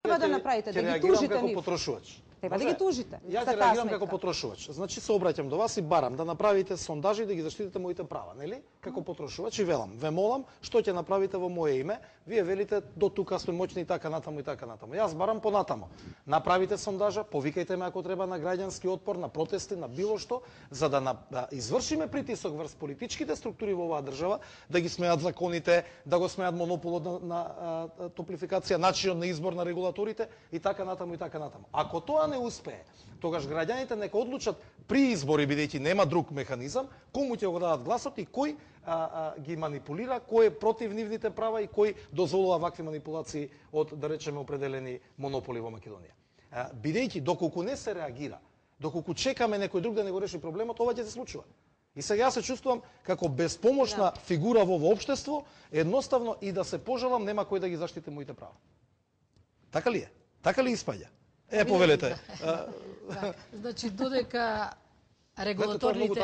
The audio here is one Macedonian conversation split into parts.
Треба да направите, да ги тужите како нив. потрошувач. Треба да ги тужите. Јас ќе реагирам како потрошувач. Значи се обраќам до вас и барам да направите сондажи да ги заштитите моите права, нели? Како потрошувач и велам, ве молам, што ќе направите во мое име? Вие велите до тука сме моќни и така натаму и така натаму. Јас барам понатаму. Направите сондажа, повикајте ме ако треба на граѓански отпор, на протести, на било што, за да извршиме притисок врз политичките структури во оваа држава, да ги смеат законите, да го смеат монополот на топлификација, начинот на избор на регулаторите и така натаму и така натаму. Ако тоа не успее, тогаш граѓаните нека одлучат при избори, бидејќи нема друг механизам, кому ќе го дадат гласот и кој ги манипулира, кој е против нивните права и кој дозволува вакви манипулации од, да речеме, определени монополи во Македонија. Бидејќи доколку не се реагира, доколку чекаме некој друг да не го реши проблемот, ова ќе се случува. И сега се чувствувам како безпомошна фигура во општество, едноставно и да се пожалам нема кој да ги заштити моите права. Така ли е? Така ли испаѓа? Повелете. Значи, додека регулаторните...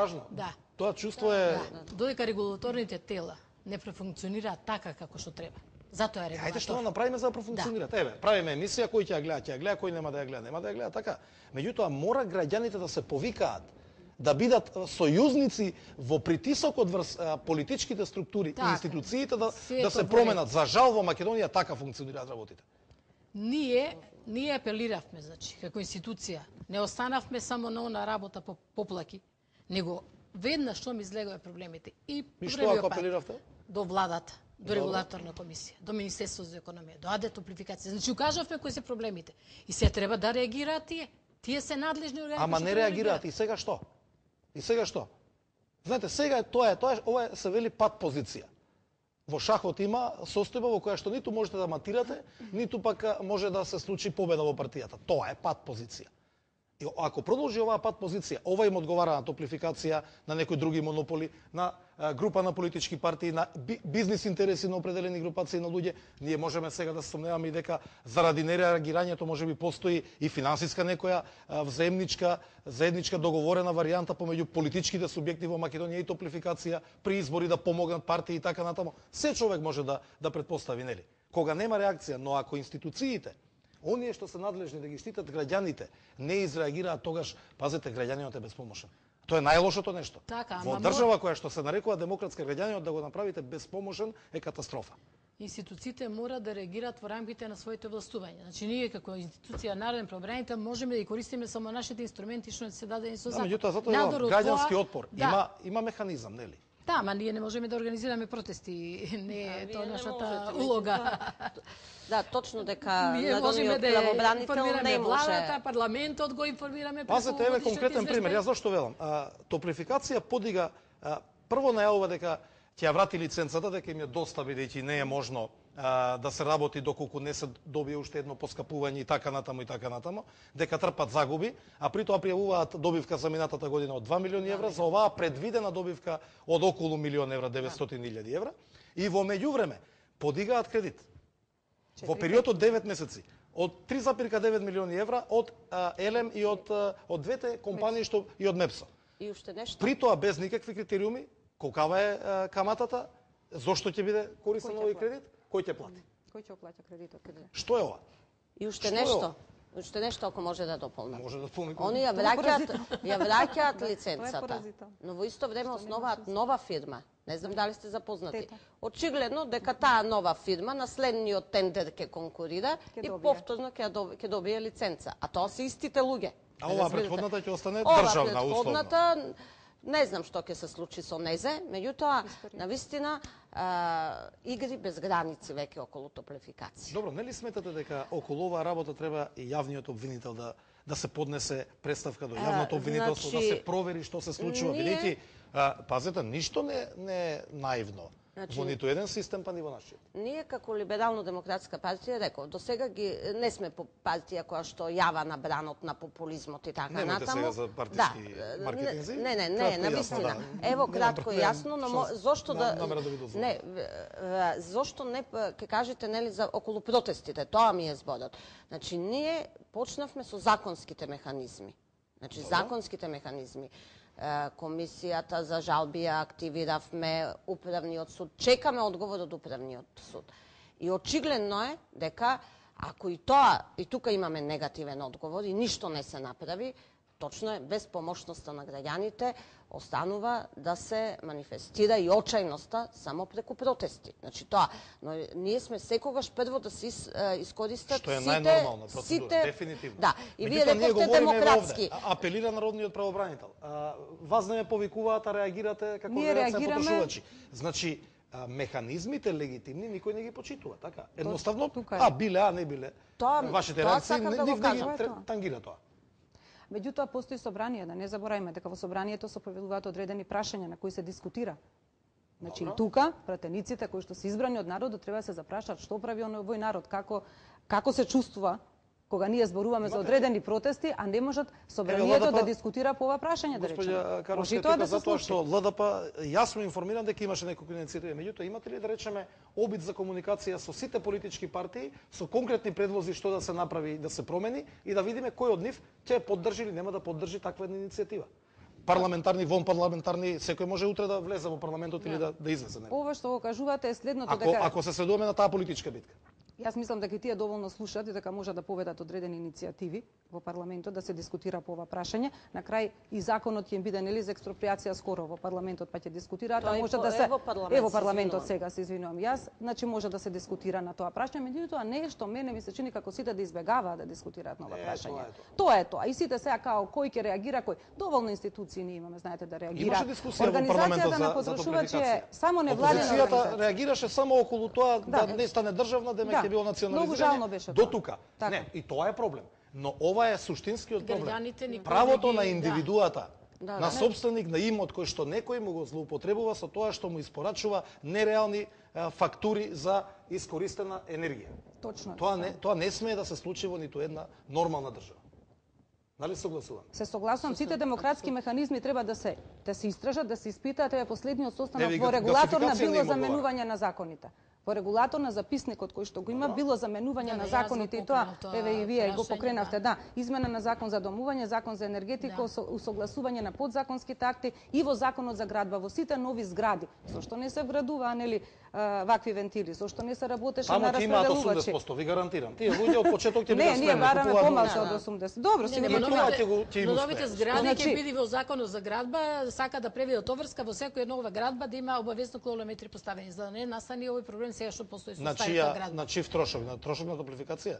Тоа чувство е... Додека регулаторните тела не профункционираат така како што треба. Затоа е регулатор. Ајде што направиме за да профункционираат? Еве, правиме емисија, кој ќе ја гледа, кој нема да ја гледа, така. Меѓутоа, мора граѓаните да се повикаат, да бидат сојузници во притисокот врз политичките структури и институциите да се променат. За жал во Македонија така функционираат работите. Ние апелиравме, значи, како институција, не останавме само на она работа по поплаки, него веднаш што ми излегува проблемите. И што ако апелиравте? До владата, до регулаторна комисија, до Министерство за економија, до АД топлификација. Значи, укажавме кои се проблемите. И се треба да реагираат тие. Тие се надлежни органи. Ама не реагираат. И сега што? Знаете, сега ова се вели пат позиција. Во шахот има состојба во која што ниту можете да матирате, ниту пак може да се случи победа во партијата. Тоа е пат позиција. И ако продолжи оваа пат позиција, ова им одговара на топлификација, на некои други монополи, на група на политички партии, на бизнис интереси на определени групации на луѓе, ние можеме сега да се сомневаме и дека заради нереагирањето можеби постои и финансиска некоја заедничка договорена варијанта помеѓу политичките субјекти во Македонија и топлификација при избори да помогнат партии и така натаму. Се човек може да претпостави, нели? Кога нема реакција, но ако институциите, оние што се надлежни да ги штитат граѓаните, не изреагираат, тогаш, пазете, граѓанинот е безпомошен. Тоа е најлошото нешто. Во држава која што се нарекува демократска, граѓанинот да го направите безпомошен е катастрофа. Институциите мора да реагираат во рамките на своите властувања. Значи, ние како институција Народен правобранител можеме да ги користиме само нашите инструменти што се дадени со закон. Меѓутоа, затоа граѓански отпор има механизам, нели? Да, ама ние не можеме да организираме протести, не е тоа нашата улога. Да, точно дека народниот правобранител не може. Владата, парламентот го информираме. Пазете, еве конкретен пример. Јас зашто велам? Топлификација подига прво најавува дека ќе ја врати лиценцата, дека им е доста бидејќи не е можно да се работи доколку не се добие уште едно поскапување и така натаму, дека трпат загуби, а при тоа пријавуваат добивка за минатата година од 2 милиони евра, за оваа предвидена добивка од околу милион евра, 900.000 евра, и во меѓувреме подигаат кредит. Во период од 9 месеци, од 3,9 милиони евра од ЕЛЕМ и од двете компании што и од МЕПСО. И уште нешто. При тоа без никакви критериуми, колкава е каматата, зошто ќе биде користен овој кредит, кој ќе плати? Кој ќе оплаќа кредитот? Што е ова? И уште нешто. Уште нешто ако може да дополнам. Може да дополни. Они ја враќаат лиценцата, но во исто време основаат нова фирма. Не знам дали сте запознати. Очигледно дека таа нова фирма на следниот тендер ќе конкурира и повторно ќе добие лиценца. А тоа се истите луѓе. А оваа претходната ќе остане државна условно. Не знам што ќе се случи со незе, меѓутоа, навистина, игри без граници веќе околу топлификација. Добро, нели сметате дека околу оваа работа треба и јавниот обвинител да се поднесе представка до јавното обвинителство, да се провери што се случува, бидејќи пазете, ништо не е наивно. Во ниту еден систем, па ни во нашиот. Ние како либерално-демократска партија, реков, до сега не сме партија која што јава на бранот на популизмот и така натаму. Немате сега за партички маркетинзи? Не, навистина. Ево, кратко и јасно, но зошто зошто не ќе кажете, нели, за околу протестите, тоа ми е зборот. Значи, ние почнавме со законските механизми. Значи, законските механизми. Комисијата за жалби ја активиравме, управниот суд, чекаме одговор од управниот суд. И очигледно е дека Ако и тоа, и тука имаме негативен одговор и ништо не се направи, точно е, без помошноста на граѓаните останува да се манифестира и очајноста само преку протести. Значи тоа, но ние сме секогаш прво да се искористат што е сите најнормална процедура, дефинитивно. Да, и вие Меѓутоа, ние рековте говориме демократски. овде, апелира народниот правобранител. Вас не ме повикуваат, а реагирате како Ние веројатно реагираме. потрошувачи. Значи, механизмите легитимни никој не ги почитува, така? Едноставно, тука е. биле, не биле. тоа Вашите реакции сакам да не го ги кажам. тангира тоа. Меѓутоа постои собрание, да не забораваме дека во собранието се повелуваат одредени прашања на кои се дискутира. Значи и тука пратениците кои што се избрани од народот треба да се запрашаат што прави овој народ, како се чувствува кога ние зборуваме за одредени протести, а не можат собранието да дискутира по ова прашање, да речеме. Господја Каровска, Може и тоа тука да се затоа случи. што ЛДП јасно информиран дека имаше неколку инициативи. Меѓутоа, имате ли да речеме обид за комуникација со сите политички партии, со конкретни предлози што да се направи, да се промени и да видиме кој од нив ќе поддржи или нема да поддржи таква една иницијатива? Парламентарни, вонпарламентарни, секој може утре да влезе во парламентот или да излезе. Ова што го кажувате е следното Ако се сведуваме на таа политичка битка. Јас мислам дека тие доволно слушаат и дека можат да поведат одредени иницијативи во парламентот да се дискутира по ова прашање. На крај и законот ќе им биде нели за експроприација скоро во парламентот па ќе дискутираат, а може да се во парламентот сега се извинувам јас, значи може да се дискутира на тоа прашање, меѓутоа нешто мене ми се чини како сите да избегаваат да дискутираат на ова прашање. Тоа е тоа. И сите сега као кој ќе реагира, кој доволно институции ние имаме, знаете да реагира. Имаше дискусија во парламентот на потрашувачи е само невладина организација. организација. Реагираше само околу тоа да не стане државна, дека било национализирање до тука. Не, и тоа е проблем. Но ова е суштинскиот проблем. Правото на индивидуата, на собственик на имот кој што некој му го злоупотребува со тоа што му испорачува нереални фактури за искористена енергија. Точно. Тоа не смее да се случи во ниту една нормална држава. Нали согласувам? Се согласувам, сите демократски механизми треба да се истражат, да се испитаат, е последниот состанок во регулаторна било заменување на законите. Во регулаторна записникот кој што го има било заменување на законите и тоа, еве и вие го покренавте, да, измена на закон за домување, закон за енергетика, усогласување на подзаконските акти и во законот за градба, во сите нови згради. Со што не се вградува, нели, вакви вентили, со што не се работеше на распределувачи. Таму 80%, ви гарантирам. Тие луѓе од почеток ќе бидат спремни. Не, ние бараме помалку од 80. Добро, си но новите згради ќе биде во законот за градба, сака да превидат товарска во секоја нова градба да има обавезно километри поставени, за да не настане овој проблем сега што постои со старата градба. На чив трошок? На трошок на топлификација?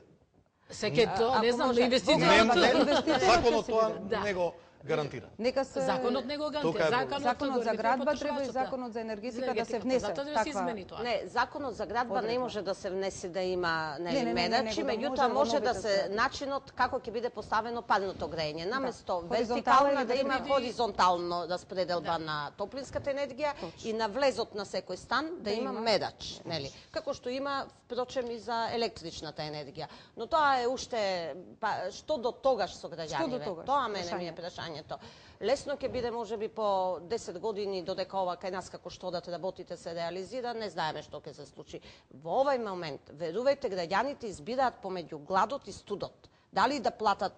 Секој тоа, не знам, на инвестиција. Законот тоа не го гарантира. Нека се законот не го гарантира. Законот за градба треба и законот за енергетика да се внесе. Не, законот за градба не може да се внесе да има медачи, меѓутоа може да се начинот како ќе биде поставено парното грејење. Наместо вертикално да има хоризонтално распределба на топлинската енергија и на влезот на секој стан да има медач, нели? Како што има впрочем и за електричната енергија. Но тоа е уште што до тогаш со граѓаните. Тоа мене ми е прашање. Лесно ќе биде можеби по 10 години додека ова кај нас како што да работите се реализира, не знаеме што ќе се случи. Во овој момент, верувајте, граѓаните избираат помеѓу гладот и студот. Дали да платат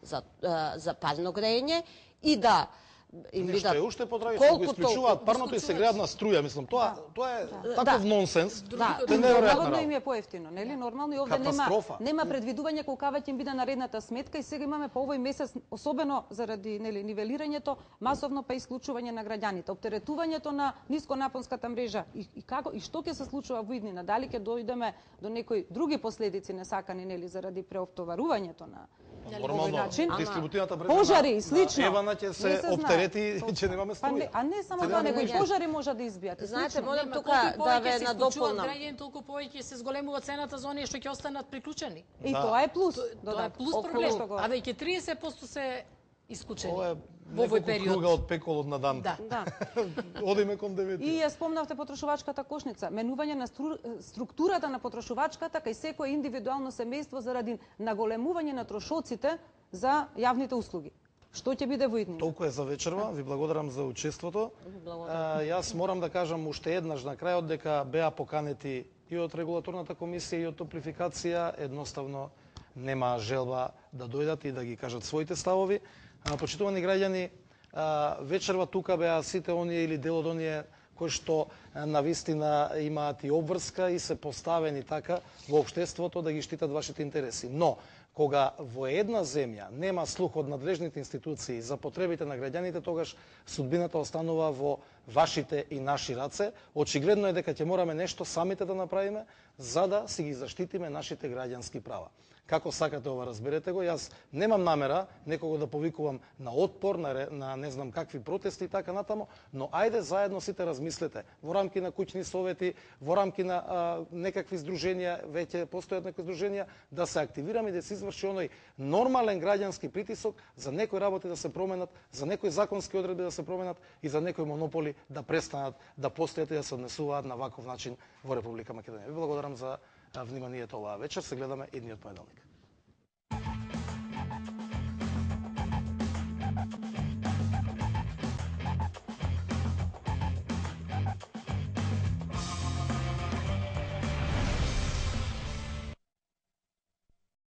за парно грејење и да им бидат Нешто е уште потрагично, го исклучуваат парното и се греат на струја, мислам, тоа е таков нонсенс. Наводно им е поевтино, нели? Нормално и овде нема предвидување колка ќе им биде наредната сметка и сега имаме по овој месец, особено заради нели нивелирањето, масовно па исклучување на граѓаните, оптеретувањето на нисконапонската мрежа и како и што ќе се случува во иднина, дали ќе дојдеме до некои други последици несакани нели заради преоптоварувањето на нормално дистрибутивната мрежа пожари и слично. Евана ќе се оптерети и ќе немаме струја. А не само тоа, него и пожари може да избијат. Знаете, морам тука да ве надополнам. Толку повеќе се зголемува цената за оние што ќе останат приклучени. И тоа е плюс. Тоа е плюс проблем. А веќе 30% се исклучени во овој период. Круга од пеколот на дан. Да. Одиме кон 9. И ја спомнавте потрошувачката кошница, менување на структурата на потрошувачката кај секое индивидуално семејство заради наголемување на трошоците за јавните услуги. Што ќе биде во иднина? Толку е за вечерва, ви благодарам за учеството. Јас морам да кажам уште еднаш на крајот дека беа поканети и од регулаторната комисија и од топлификација, едноставно нема желба да дојдат и да ги кажат своите ставови. Почитувани граѓани, вечерва тука беа сите оние или дел од оние кои што навистина имаат и обврска и се поставени така во општеството да ги штитат вашите интереси. Но кога во една земја нема слух од надлежните институции за потребите на граѓаните, тогаш судбината останува во вашите и наши раце. Очигледно е дека ќе мораме нешто самите да направиме за да си ги заштитиме нашите граѓански права. Како сакате ова, разберете го, јас немам намера некого да повикувам на отпор, на не знам какви протести и така натамо, но ајде заедно сите размислете во рамки на куќни совети, во рамки на некакви здруженија, веќе постојат некои здруженија, да се активираме и да се изврши оној нормален граѓански притисок за некои работи да се променат, за некои законски одредби да се променат и за некои монополи да престанат да постојат и да се однесуваат на ваков начин во Република Македонија. Ви благодарам за вниманието оваа вечер. Се гледаме идниот понеделник.